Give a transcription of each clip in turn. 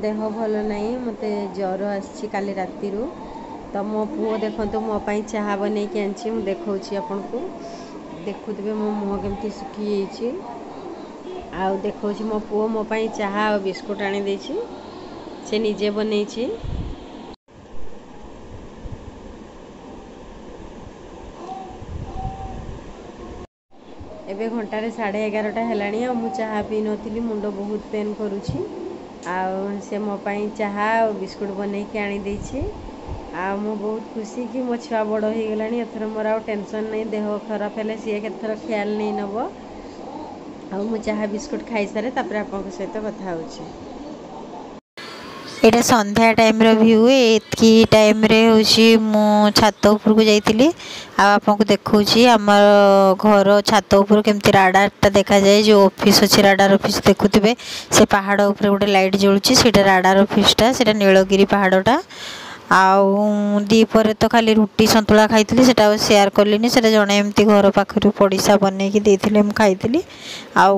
ଦେହ ଭଲ ନାହିଁ, ମୋତେ ଜ୍ୱର ଆସିଛି କାଲି ରାତିରୁ। ତ ମୋ ପୁଅ ଦେଖନ୍ତୁ ମୋ ପାଇଁ ଚାହା ବନେଇକି ଆଣିଛି, ମୁଁ ଦେଖାଉଛି ଆପଣଙ୍କୁ। ଦେଖୁଥିବେ ମୋ ମୁହଁ କେମିତି ଶୁଖିଯାଇଛି। ଆଉ ଦେଖାଉଛି ମୋ ପୁଅ ମୋ ପାଇଁ ଚାହା ଆଉ ବିସ୍କୁଟ୍ ଆଣିଦେଇଛି, ସେ ନିଜେ ବନେଇଛି। ଏବେ ଘଣ୍ଟାରେ 11:30 ହେଲାଣି ଆଉ ମୁଁ ଚାହା ପିଇନଥିଲି, ମୁଣ୍ଡ ବହୁତ ପେନ୍ କରୁଛି। ଆଉ ସେ ମୋ ପାଇଁ ଚାହା ଆଉ ବିସ୍କୁଟ୍ ବନେଇକି ଆଣିଦେଇଛି। ଆଉ ମୁଁ ବହୁତ ଖୁସି କି ମୋ ଛୁଆ ବଡ଼ ହେଇଗଲାଣି, ଏଥର ମୋର ଆଉ ଟେନସନ୍ ନାହିଁ। ଦେହ ଖରାପ ହେଲେ ସିଏ କେତେଥର ଖିଆଲ ନେଇ ନେବ। ଆଉ ମୁଁ ଚାହା ବିସ୍କୁଟ୍ ଖାଇସାରେ, ତାପରେ ଆପଣଙ୍କ ସହିତ କଥା ହେଉଛି। ଏଇଟା ସନ୍ଧ୍ୟା ଟାଇମ୍ର ଭ୍ୟୁ। ଏତିକି ଟାଇମ୍ରେ ହେଉଛି ମୁଁ ଛାତ ଉପରକୁ ଯାଇଥିଲି ଆଉ ଆପଣଙ୍କୁ ଦେଖାଉଛି ଆମର ଘର ଛାତ ଉପରୁ କେମିତି ରାଡ଼ାରଟା ଦେଖାଯାଏ। ଯେଉଁ ଅଫିସ୍ ଅଛି, ରାଡ଼ାର ଅଫିସ୍ ଦେଖୁଥିବେ, ସେ ପାହାଡ଼ ଉପରେ ଗୋଟେ ଲାଇଟ୍ ଜଳୁଛି, ସେଇଟା ରାଡ଼ାର ଅଫିସ୍ଟା, ସେଇଟା ନୀଳଗିରି ପାହାଡ଼ଟା। ଆଉ ଦ୍ୱିପହରେ ତ ଖାଲି ରୁଟି ସନ୍ତୁଳା ଖାଇଥିଲି, ସେଇଟା ଆଉ ସେୟାର କଲିନି। ସେଇଟା ଜଣେ ଏମିତି ଘର ପାଖରୁ ପଡ଼ିଶା ବନେଇକି ଦେଇଥିଲେ, ମୁଁ ଖାଇଥିଲି। ଆଉ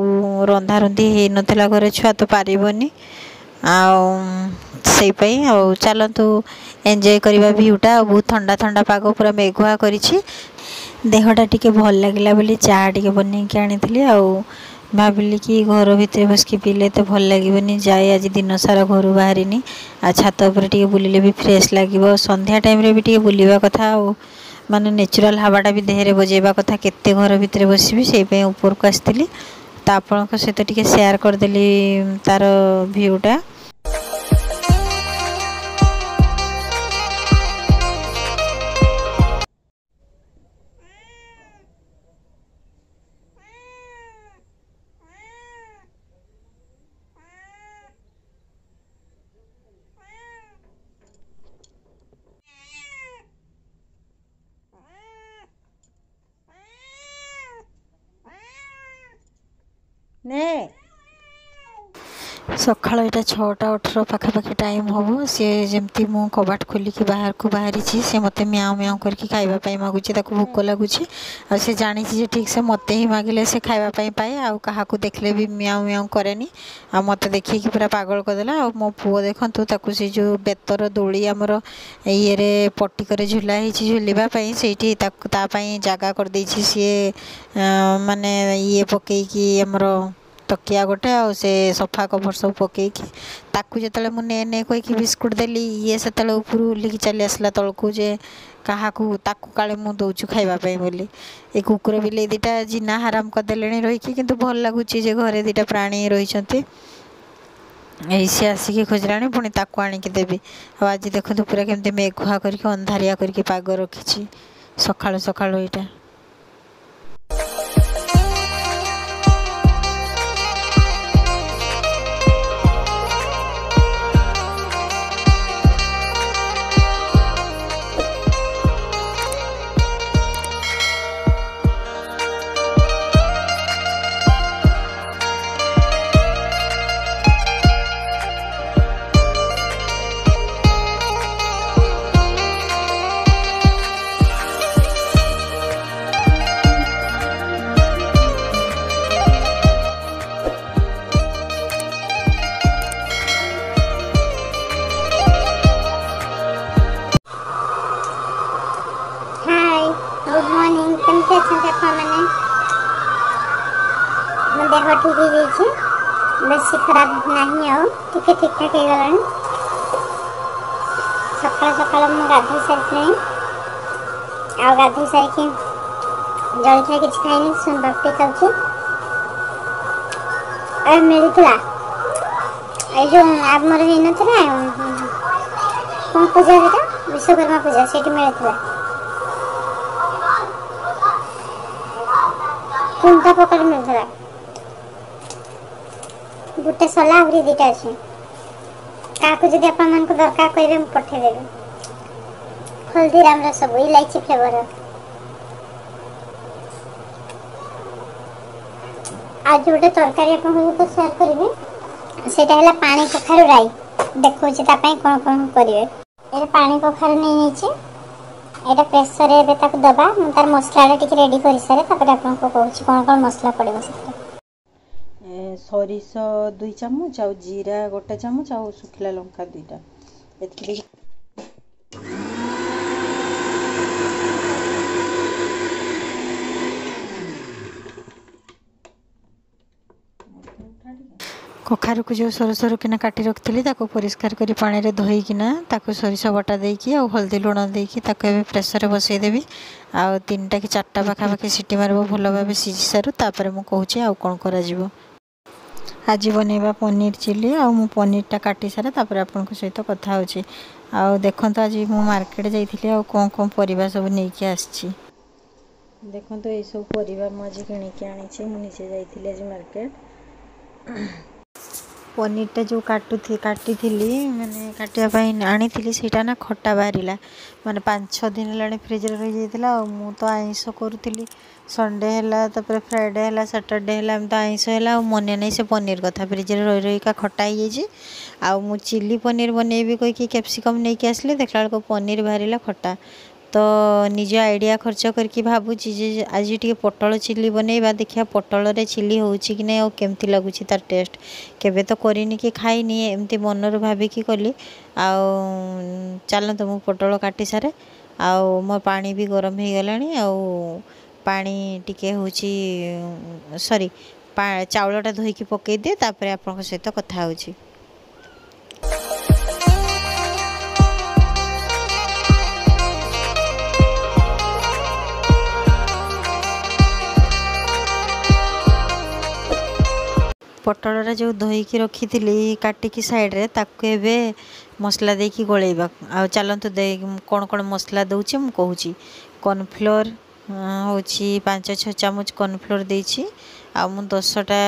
ରନ୍ଧାରନ୍ଧି ହେଇନଥିଲା ଘରେ, ଛୁଆ ତ ପାରିବନି, ଆଉ ସେଇ ପାଇଁ। ଆଉ ଚାଲନ୍ତୁ ଏନ୍ଜୟ କରିବା ଭ୍ୟୁଟା। ଆଉ ବହୁତ ଥଣ୍ଡା ଥଣ୍ଡା ପାଗ, ପୁରା ମେଘୁଆ କରିଛି। ଦେହଟା ଟିକେ ଭଲ ଲାଗିଲା ବୋଲି ଚା ଟିକେ ବନେଇକି ଆଣିଥିଲି। ଆଉ ଭାବିଲି କି ଘର ଭିତରେ ବସିକି ପିଇଲେ ଏତେ ଭଲ ଲାଗିବନି, ଯାଏ ଆଜି ଦିନ ସାରା ଘରୁ ବାହାରିନି, ଆଉ ଛାତ ଉପରେ ଟିକେ ବୁଲିଲେ ବି ଫ୍ରେଶ୍ ଲାଗିବ। ସନ୍ଧ୍ୟା ଟାଇମ୍ରେ ବି ଟିକେ ବୁଲିବା କଥା, ଆଉ ମାନେ ନ୍ୟାଚୁରାଲ୍ ହାୱାଟା ବି ଦେହରେ ବଜେଇବା କଥା। କେତେ ଘର ଭିତରେ ବସିବି, ସେଇ ପାଇଁ ଉପରକୁ ଆସିଥିଲି। ତ ଆପଣଙ୍କ ସହିତ ଟିକେ ସେୟାର କରିଦେଲି ତାର ଭ୍ୟୁଟା। ନେ ସକାଳ ଏଇଟା 6:18 ପାଖାପାଖି ଟାଇମ୍ ହେବ। ସିଏ ଯେମିତି ମୁଁ କବାଟ ଖୋଲିକି ବାହାରକୁ ବାହାରିଛି, ସେ ମୋତେ ମିଆଁଉ ମିଆଁଉ କରିକି ଖାଇବା ପାଇଁ ମାଗୁଛି। ତାକୁ ଭୋକ ଲାଗୁଛି ଆଉ ସେ ଜାଣିଛି ଯେ ଠିକ୍ ସେ ମୋତେ ହିଁ ମାଗିଲେ ସେ ଖାଇବା ପାଇଁ ପାଏ, ଆଉ କାହାକୁ ଦେଖିଲେ ବି ମିଆଁଉ ମିଆଁଉ କରେନି। ଆଉ ମୋତେ ଦେଖିକି ପୁରା ପାଗଳ କରିଦେଲା। ଆଉ ମୋ ପୁଅ ଦେଖନ୍ତୁ, ତାକୁ ସେ ଯେଉଁ ବେତର ଦୋଳି ଆମର ଇଏରେ ପଟିକରେ ଝୁଲା ହେଇଛି ଝୁଲିବା ପାଇଁ, ସେଇଠି ତାକୁ ତା ପାଇଁ ଜାଗା କରିଦେଇଛି ସିଏ, ମାନେ ଇଏ ପକେଇକି ଆମର ତକିଆ ଗୋଟେ ଆଉ ସେ ସୋଫା କଭର୍ ସବୁ ପକେଇକି। ତାକୁ ଯେତେବେଳେ ମୁଁ ନେ ନେ କହିକି ବିସ୍କୁଟ୍ ଦେଲି, ଇଏ ସେତେବେଳେ ଉପରୁ ଓହ୍ଲିକି ଚାଲି ଆସିଲା ତଳକୁ ଯେ କାହାକୁ ତାକୁ କାଳେ ମୁଁ ଦେଉଛୁ ଖାଇବା ପାଇଁ ବୋଲି। ଏ କୁକୁର ବିଲେଇ ଦୁଇଟା ଜିନା ହାରାମ କରିଦେଲେଣି ରହିକି, କିନ୍ତୁ ଭଲ ଲାଗୁଛି ଯେ ଘରେ ଦୁଇଟା ପ୍ରାଣୀ ରହିଛନ୍ତି। ଏଇ ସିଏ ଆସିକି ଖୋଜିଲାଣି, ପୁଣି ତାକୁ ଆଣିକି ଦେବି। ଆଉ ଆଜି ଦେଖନ୍ତୁ ପୁରା କେମିତି ମେଘୁଆ କରିକି ଅନ୍ଧାରିଆ କରିକି ପାଗ ରଖିଛି ସକାଳୁ ସକାଳୁ ଏଇଟା। ହାଏ, ଗୁଡ୍ ମର୍ଣ୍ଣିଂ। କେମିତି ଅଛନ୍ତି ଆପଣମାନେ? ମୋ ଦେହ ଠିକ୍ ହେଇଯାଇଛି, ବେଶୀ ଖରାପ ନାହିଁ, ଆଉ ଟିକେ ଠିକ୍ ଠାକ୍ ହେଇଗଲାଣି। ସକାଳୁ ସକାଳୁ ମୁଁ ଗାଧୋଇ ସାରିଥିଲି, ଆଉ ଗାଧୋଇ ସାରିକି ଜଳଖିଆ କିଛି ଖାଇନି, ସୁନପାପଡ଼ି ଖାଉଛି। ଆଉ ମିଳିଥିଲା ଏଇ ଯେଉଁ ଆମର ହେଇନଥିଲା କ'ଣ ପୂଜା, ସେଇଟା ବିଶ୍ୱକର୍ମା ପୂଜା, ସେଇଠି ମିଳିଥିଲା 3ଟା ପକେଟ୍ ମିଳିଥିଲା। ଗୋଟେ ସଲା, ଆହୁରି 2ଟା ଅଛି। କାହାକୁ ଯଦି ଆପଣମାନଙ୍କୁ ଦରକାର କହିବେ, ମୁଁ ପଠେଇଦେବି। ହଳଦୀରାମର ସବୁ ଇଲାଇଚି ଫ୍ଲେଭର। ଆଜି ଗୋଟେ ତରକାରୀ ଆପଣଙ୍କ ସହିତ ସେୟାର କରିବି, ସେଇଟା ହେଲା ପାଣି କଖାରୁ ରାଇ। ଦେଖାଉଛି ତା ପାଇଁ କ'ଣ କ'ଣ କରିବେ। ଏଇଟା ପାଣି କଖାରୁ ନେଇଯାଇଛି, ଏଇଟା ପ୍ରେସରରେ ଏବେ ତାକୁ ଦେବା। ମୁଁ ତାର ମସଲାଟା ଟିକେ ରେଡ଼ି କରିସାରେ, ତାପରେ ଆପଣଙ୍କୁ କହୁଛି କ'ଣ କ'ଣ ମସଲା ପଡ଼ିବ ସେଥିରେ। ସୋରିଷ 2 ଚାମଚ, ଆଉ ଜିରା 1 ଚାମଚ, ଆଉ ଶୁଖିଲା ଲଙ୍କା 2ଟା, ଏତିକି ଦେଇକି। କଖାରୁକୁ ଯେଉଁ ସରୁ ସରୁ କିନା କାଟି ରଖିଥିଲି, ତାକୁ ପରିଷ୍କାର କରି ପାଣିରେ ଧୋଇକିନା ତାକୁ ସୋରିଷ ବଟା ଦେଇକି ଆଉ ହଳଦୀ ଲୁଣ ଦେଇକି ତାକୁ ଏବେ ପ୍ରେସରରେ ବସେଇଦେବି। ଆଉ 3ଟା କି 4ଟା ପାଖାପାଖି ସିଟି ମାରିବ, ଭଲ ଭାବେ ସିଝି ସାରୁ, ତାପରେ ମୁଁ କହୁଛି ଆଉ କ'ଣ କରାଯିବ। ଆଜି ବନେଇବା ପନିର ଚିଲି। ଆଉ ମୁଁ ପନିରଟା କାଟି ସାରେ, ତାପରେ ଆପଣଙ୍କ ସହିତ କଥା ହେଉଛି। ଆଉ ଦେଖନ୍ତୁ, ଆଜି ମୁଁ ମାର୍କେଟ ଯାଇଥିଲି ଆଉ କ'ଣ କ'ଣ ପରିବା ସବୁ ନେଇକି ଆସିଛି। ଦେଖନ୍ତୁ, ଏଇସବୁ ପରିବା ମୁଁ ଆଜି କିଣିକି ଆଣିଛି। ମୁଁ ନିଜେ ଯାଇଥିଲି ଆଜି ମାର୍କେଟ। ପନିରଟା ଯେଉଁ କାଟିଥିଲି, ମାନେ କାଟିବା ପାଇଁ ଆଣିଥିଲି, ସେଇଟା ନା ଖଟା ବାହାରିଲା। ମାନେ 5-6 ଦିନ ହେଲାଣି ଫ୍ରିଜରେ ରହିଯାଇଥିଲା। ଆଉ ମୁଁ ତ ଆଇଁଷ କରୁଥିଲି, ସଣ୍ଡେ ହେଲା, ତାପରେ ଫ୍ରାଇଡ଼େ ହେଲା, ସାଟର୍ଡ଼େ ହେଲା, ଏମିତି ଆଇଁଷ ହେଲା, ଆଉ ମନେ ନାହିଁ ସେ ପନିର କଥା। ଫ୍ରିଜରେ ରହି ରହିକା ଖଟା ହେଇଯାଇଛି। ଆଉ ମୁଁ ଚିଲି ପନିର ବନେଇବି କହିକି କ୍ୟାପ୍ସିକମ୍ ନେଇକି ଆସିଲି, ଦେଖିଲା ବେଳକୁ ପନିର ବାହାରିଲା ଖଟା। ତ ନିଜ ଆଇଡ଼ିଆ ଖର୍ଚ୍ଚ କରିକି ଭାବୁଛି ଯେ ଆଜି ଟିକେ ପୋଟଳ ଚିଲି ବନେଇବା, ଦେଖିବା ପୋଟଳରେ ଚିଲି ହେଉଛି କି ନାହିଁ ଆଉ କେମିତି ଲାଗୁଛି ତାର ଟେଷ୍ଟ। କେବେ ତ କରିନି କି ଖାଇନି, ଏମିତି ମନରୁ ଭାବିକି କଲି। ଆଉ ଚାଲନ୍ତୁ, ମୁଁ ପୋଟଳ କାଟି ସାରେ। ଆଉ ମୋ ପାଣି ବି ଗରମ ହେଇଗଲାଣି। ଆଉ ପାଣି ଟିକେ ହେଉଛି, ସରି, ଚାଉଳଟା ଧୋଇକି ପକାଇଦିଏ, ତାପରେ ଆପଣଙ୍କ ସହିତ କଥା ହେଉଛି। ପୋଟଳଟା ଯେଉଁ ଧୋଇକି ରଖିଥିଲି କାଟିକି ସାଇଡ଼ରେ, ତାକୁ ଏବେ ମସଲା ଦେଇକି ଗୋଳେଇବା। ଆଉ ଚାଲନ୍ତୁ, ଦେଇ କ'ଣ କ'ଣ ମସଲା ଦେଉଛି ମୁଁ କହୁଛି। କର୍ଣ୍ଣଫ୍ଲୋର୍ ହେଉଛି 5-6 ଚାମଚ କର୍ଣ୍ଣଫ୍ଲୋର୍ ଦେଇଛି। ଆଉ ମୁଁ 10ଟା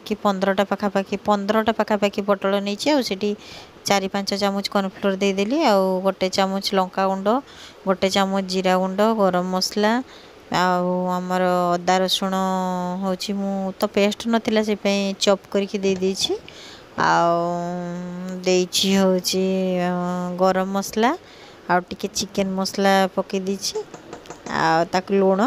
କି 15ଟା ପାଖାପାଖି, 15ଟା ପାଖାପାଖି ପୋଟଳ ନେଇଛି। ଆଉ ସେଠି 4-5 ଚାମଚ କର୍ଣ୍ଣଫ୍ଲୋର୍ ଦେଇଦେଲି। ଆଉ 1 ଚାମଚ ଲଙ୍କା ଗୁଣ୍ଡ, 1 ଚାମଚ ଜିରା ଗୁଣ୍ଡ, ଗରମ ମସଲା, ଆଉ ଆମର ଅଦା ରସୁଣ ହେଉଛି, ମୁଁ ତ ପେଷ୍ଟ ନଥିଲା ସେଥିପାଇଁ ଚପ୍ କରିକି ଦେଇଦେଇଛି। ଆଉ ଦେଇଛି ହେଉଛି ଗରମ ମସଲା ଆଉ ଟିକେ ଚିକେନ୍ ମସଲା ପକାଇ ଦେଇଛି। ଆଉ ତାକୁ ଲୁଣ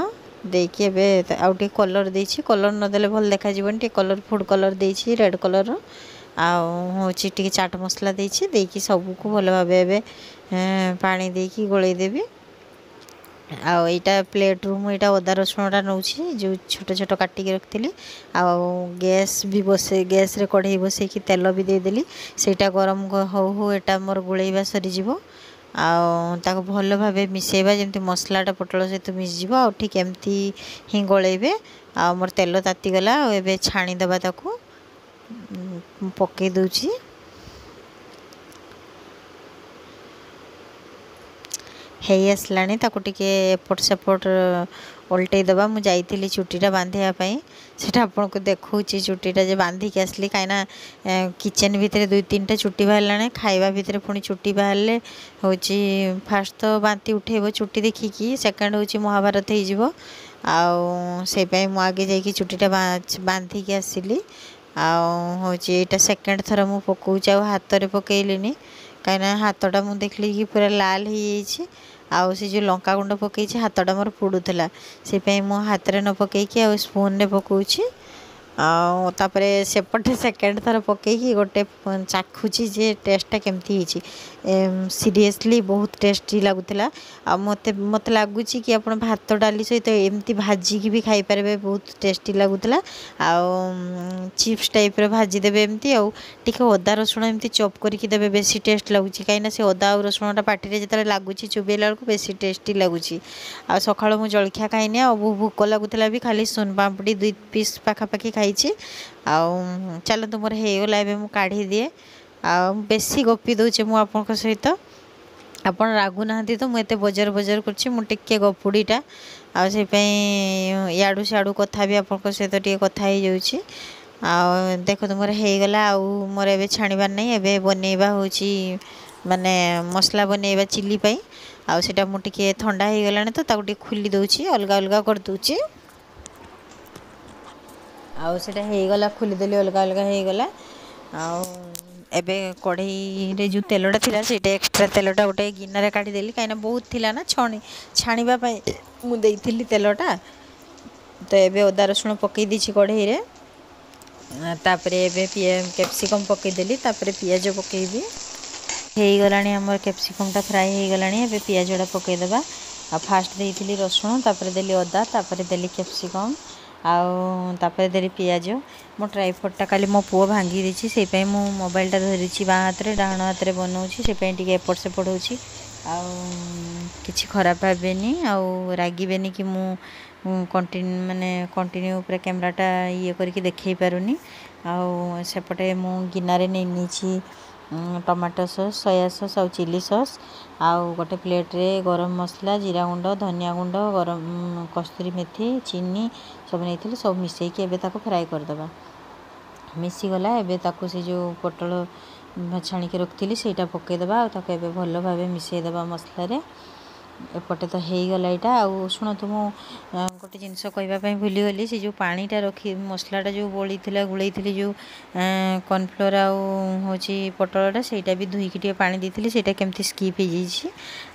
ଦେଇକି ଏବେ ଆଉ ଟିକେ କଲର୍ ଦେଇଛି। କଲର୍ ନଦେଲେ ଭଲ ଦେଖାଯିବନି, ଟିକେ କଲର୍, ଫୁଡ଼୍ କଲର୍ ଦେଇଛି ରେଡ଼୍ କଲର୍ର। ଆଉ ହେଉଛି ଟିକେ ଚାଟ୍ ମସଲା ଦେଇଛି। ଦେଇକି ସବୁକୁ ଭଲ ଭାବେ ଏବେ ପାଣି ଦେଇକି ଗୋଳେଇ ଦେବି। ଆଉ ଏଇଟା ପ୍ଲେଟ୍ରୁ ମୁଁ ଏଇଟା ଅଦା ରସୁଣଟା ନେଉଛି, ଯେଉଁ ଛୋଟ ଛୋଟ କାଟିକି ରଖିଥିଲି। ଆଉ ଗ୍ୟାସ୍ ବି ବସେଇ, ଗ୍ୟାସ୍ରେ କଢ଼େଇ ବସେଇକି ତେଲ ବି ଦେଇଦେଲି। ସେଇଟା ଗରମ ହଉ ହଉ ଏଇଟା ମୋର ଗୋଳେଇବା ସରିଯିବ। ଆଉ ତାକୁ ଭଲ ଭାବେ ମିଶାଇବା, ଯେମିତି ମସଲାଟା ପୋଟଳ ସହିତ ମିଶିଯିବ। ଆଉ ଠିକ୍ ଏମିତି ହିଁ ଗୋଳେଇବେ। ଆଉ ମୋର ତେଲ ତାତିଗଲା, ଆଉ ଏବେ ଛାଣିଦେବା। ତାକୁ ପକାଇ ଦେଉଛି। ହେଇ ଆସିଲାଣି, ତାକୁ ଟିକେ ଏପଟ ସେପଟ ଓଲଟେଇ ଦେବା। ମୁଁ ଯାଇଥିଲି ଚୁଟିଟା ବାନ୍ଧିବା ପାଇଁ, ସେଇଟା ଆପଣଙ୍କୁ ଦେଖାଉଛି। ଚୁଟିଟା ଯେ ବାନ୍ଧିକି ଆସିଲି, କାହିଁକିନା କିଚେନ୍ ଭିତରେ 2-3ଟା ଚୁଟି ବାହାରିଲାଣି। ଖାଇବା ଭିତରେ ପୁଣି ଚୁଟି ବାହାରିଲେ ହେଉଛି ଫାଷ୍ଟ ତ ବାନ୍ତି ଉଠେଇବ ଚୁଟି ଦେଖିକି, ସେକେଣ୍ଡ ହେଉଛି ମହାଭାରତ ହେଇଯିବ। ଆଉ ସେଇପାଇଁ ମୁଁ ଆଗେ ଯାଇକି ଚୁଟିଟା ବାନ୍ଧିକି ଆସିଲି। ଆଉ ହେଉଛି ଏଇଟା ସେକେଣ୍ଡ ଥର ମୁଁ ପକାଉଛି। ଆଉ ହାତରେ ପକାଇଲିନି, କାହିଁକିନା ହାତଟା ମୁଁ ଦେଖିଲି କି ପୁରା ଲାଲ ହେଇଯାଇଛି। ଆଉ ସେ ଯେଉଁ ଲଙ୍କା ଗୁଣ୍ଡ ପକାଇଛି, ହାତଟା ମୋର ପୋଡ଼ୁଥିଲା। ସେଇପାଇଁ ମୁଁ ହାତରେ ନ ପକାଇକି ଆଉ ସ୍ପୁନ୍ରେ ପକାଉଛି। ଆଉ ତାପରେ ସେପଟେ ସେକେଣ୍ଡ ଥର ପକାଇକି ଗୋଟେ ଚାଖୁଛି ଯେ ଟେଷ୍ଟଟା କେମିତି ହେଇଛି। ସିରିୟସଲି ବହୁତ ଟେଷ୍ଟି ଲାଗୁଥିଲା। ଆଉ ମୋତେ ଲାଗୁଛି କି ଆପଣ ଭାତ ଡାଲି ସହିତ ଏମିତି ଭାଜିକି ବି ଖାଇପାରିବେ, ବହୁତ ଟେଷ୍ଟି ଲାଗୁଥିଲା। ଆଉ ଚିପ୍ସ ଟାଇପ୍ର ଭାଜିଦେବେ ଏମିତି, ଆଉ ଟିକେ ଅଦା ରସୁଣ ଏମିତି ଚପ୍ କରିକି ଦେବେ, ବେଶୀ ଟେଷ୍ଟ ଲାଗୁଛି। କାହିଁକିନା ସେ ଅଦା ଆଉ ରସୁଣଟା ପାଟିରେ ଯେତେବେଳେ ଲାଗୁଛି ଚୋବେଇଲା ବେଳକୁ, ବେଶୀ ଟେଷ୍ଟି ଲାଗୁଛି। ଆଉ ସକାଳୁ ମୁଁ ଜଳଖିଆ ଖାଇନି, ଆଉ ଭୋକ ଲାଗୁଥିଲା ବି, ଖାଲି ସୁନପାମ୍ପୁଡ଼ି 2 ପିସ୍ ପାଖାପାଖି ଖାଇଛି। ଆଉ ଚାଲନ୍ତୁ, ମୋର ହେଇଗଲା, ଏବେ ମୁଁ କାଢ଼ିଦିଏ। ଆଉ ବେଶୀ ଗପି ଦେଉଛି ମୁଁ ଆପଣଙ୍କ ସହିତ, ଆପଣ ରାଗୁନାହାନ୍ତି ତ? ମୁଁ ଏତେ ବଜର ବଜର କରୁଛି, ମୁଁ ଟିକେ ଗପୁଡ଼ିଟା, ଆଉ ସେଇପାଇଁ ଇଆଡ଼ୁ ସିଆଡ଼ୁ କଥା ବି ଆପଣଙ୍କ ସହିତ ଟିକେ କଥା ହେଇଯାଉଛି। ଆଉ ଦେଖନ୍ତୁ, ମୋର ହେଇଗଲା। ଆଉ ମୋର ଏବେ ଛାଣିବାର ନାହିଁ। ଏବେ ବନେଇବା ହେଉଛି, ମାନେ ମସଲା ବନେଇବା ଚିଲି ପାଇଁ। ଆଉ ସେଇଟା ମୁଁ ଟିକେ ଥଣ୍ଡା ହେଇଗଲାଣି ତ ତାକୁ ଟିକେ ଖୋଲି ଦେଉଛି, ଅଲଗା ଅଲଗା କରିଦେଉଛି। ଆଉ ସେଇଟା ହେଇଗଲା, ଖୋଲିଦେଲି, ଅଲଗା ଅଲଗା ହେଇଗଲା। ଆଉ ଏବେ କଢ଼େଇରେ ଯେଉଁ ତେଲଟା ଥିଲା, ସେଇଟା ଏକ୍ସଟ୍ରା ତେଲଟା ଗୋଟେ ଗିନାରେ କାଢ଼ିଦେଲି, କାହିଁକିନା ବହୁତ ଥିଲା ନା, ଛାଣିବା ପାଇଁ ମୁଁ ଦେଇଥିଲି ତେଲଟା। ତ ଏବେ ଅଦା ରସୁଣ ପକାଇ ଦେଇଛି କଢ଼େଇରେ। ତାପରେ ଏବେ କ୍ୟାପ୍ସିକମ୍ ପକାଇଦେଲି, ତାପରେ ପିଆଜ ପକାଇବି। ହେଇଗଲାଣି ଆମର କ୍ୟାପ୍ସିକମ୍ଟା ଫ୍ରାଏ ହେଇଗଲାଣି। ଏବେ ପିଆଜଟା ପକାଇଦେବା। ଆଉ ଫାଷ୍ଟ ଦେଇଥିଲି ରସୁଣ, ତାପରେ ଦେଲି ଅଦା, ତାପରେ ଦେଲି କ୍ୟାପ୍ସିକମ୍, ଆଉ ତାପରେ ଦେଲି ପିଆଜ। ମୋ ଟ୍ରାଇପଡ଼୍ଟା କାଲି ମୋ ପୁଅ ଭାଙ୍ଗି ଦେଇଛି, ସେଇପାଇଁ ମୁଁ ମୋବାଇଲଟା ଧରିଛି ବାଁ ହାତରେ, ଡାହାଣ ହାତରେ ବନାଉଛି, ସେଇପାଇଁ ଟିକେ ଏପଟ ସେପଟ ହେଉଛି। ଆଉ କିଛି ଖରାପ ଭାବିବେନି ଆଉ ରାଗିବେନି କି ମୁଁ କଣ୍ଟିନ୍ୟୁ ମାନେ କଣ୍ଟିନ୍ୟୁ ପୁରା କ୍ୟାମେରାଟା ଇଏ କରିକି ଦେଖାଇ ପାରୁନି। ଆଉ ସେପଟେ ମୁଁ ଗିନାରେ ନେଇ ନେଇଛି ଟମାଟୋ ସସ୍, ସୋୟା ସସ୍ ଆଉ ଚିଲି ସସ୍। ଆଉ ଗୋଟେ ପ୍ଲେଟ୍ରେ ଗରମ ମସଲା, ଜିରା ଗୁଣ୍ଡ, ଧନିଆ ଗୁଣ୍ଡ, ଗରମ କସ୍ତୁରୀ ମେଥି, ଚିନି ସବୁ ନେଇଥିଲି। ସବୁ ମିଶାଇକି ଏବେ ତାକୁ ଫ୍ରାଏ କରିଦେବା। ମିଶିଗଲା। ଏବେ ତାକୁ ସେ ଯେଉଁ ପୋଟଳ ଛାଣିକି ରଖିଥିଲି ସେଇଟା ପକାଇଦେବା, ଆଉ ତାକୁ ଏବେ ଭଲ ଭାବେ ମିଶାଇଦେବା ମସଲାରେ। ଏପଟେ ତ ହେଇଗଲା ଏଇଟା। ଆଉ ଶୁଣନ୍ତୁ, ମୁଁ ଗୋଟେ ଜିନିଷ କହିବା ପାଇଁ ଭୁଲିଗଲି। ସେ ଯେଉଁ ପାଣିଟା ରଖି ମସଲାଟା ଯେଉଁ ଗୋଳେଇଥିଲା ଗୋଳେଇଥିଲି ଯେଉଁ କର୍ଣ୍ଣଫ୍ଲୋର୍ ଆଉ ହେଉଛି ପୋଟଳଟା, ସେଇଟା ବି ଧୋଇକି ଟିକେ ପାଣି ଦେଇଥିଲି, ସେଇଟା କେମିତି ସ୍କିପ୍ ହେଇଯାଇଛି।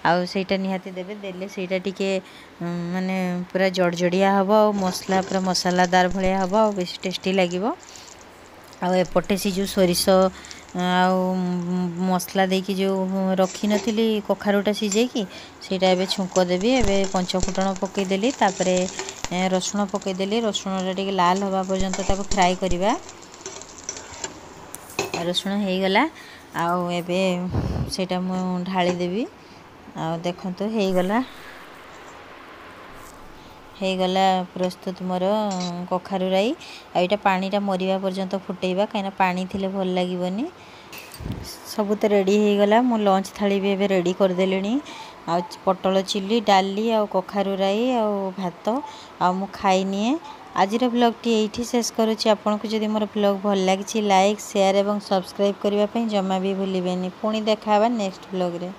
ଆଉ ସେଇଟା ନିହାତି ଦେବେ, ଦେଲେ ସେଇଟା ଟିକେ ମାନେ ପୁରା ଜଡ଼ଜଡ଼ିଆ ହେବ ଆଉ ମସଲା ପୁରା ମସଲାଦାର ଭଳିଆ ହେବ ଆଉ ବେଶୀ ଟେଷ୍ଟି ଲାଗିବ। ଆଉ ଏପଟେ ସେ ଯେଉଁ ସୋରିଷ ଆଉ ମସଲା ଦେଇକି ଯେଉଁ ରଖିନଥିଲି କଖାରୁଟା ସିଝେଇକି, ସେଇଟା ଏବେ ଛୁଙ୍କ ଦେବି। ଏବେ ପଞ୍ଚ ଫୁଟଣ ପକାଇଦେଲି, ତାପରେ ରସୁଣ ପକାଇଦେଲି। ରସୁଣଟା ଟିକେ ଲାଲ ହେବା ପର୍ଯ୍ୟନ୍ତ ତାକୁ ଫ୍ରାଏ କରିବା। ରସୁଣ ହେଇଗଲା, ଆଉ ଏବେ ସେଇଟା ମୁଁ ଢାଳିଦେବି। ଆଉ ଦେଖନ୍ତୁ, ହେଇଗଲା ହେଇଗଲା ପ୍ରସ୍ତୁତ ମୋର କଖାରୁ ରାଇ। ଆଉ ଏଇଟା ପାଣିଟା ମରିବା ପର୍ଯ୍ୟନ୍ତ ଫୁଟେଇବା, କାହିଁକିନା ପାଣି ଥିଲେ ଭଲ ଲାଗିବନି। ସବୁ ତ ରେଡ଼ି ହେଇଗଲା। ମୁଁ ଲଞ୍ଚ ଥାଳି ବି ଏବେ ରେଡ଼ି କରିଦେଲିଣି, ଆଉ ପୋଟଳ ଚିଲି, ଡାଲି ଆଉ କଖାରୁ ରାଇ ଆଉ ଭାତ, ଆଉ ମୁଁ ଖାଇନିଏ। ଆଜିର ବ୍ଲଗ୍ଟି ଏଇଠି ଶେଷ କରୁଛି। ଆପଣଙ୍କୁ ଯଦି ମୋର ବ୍ଲଗ୍ ଭଲ ଲାଗିଛି, ଲାଇକ୍, ସେୟାର ଏବଂ ସବସ୍କ୍ରାଇବ୍ କରିବା ପାଇଁ ଜମା ବି ଭୁଲିବେନି। ପୁଣି ଦେଖା ହେବା ନେକ୍ସଟ ବ୍ଲଗ୍ରେ।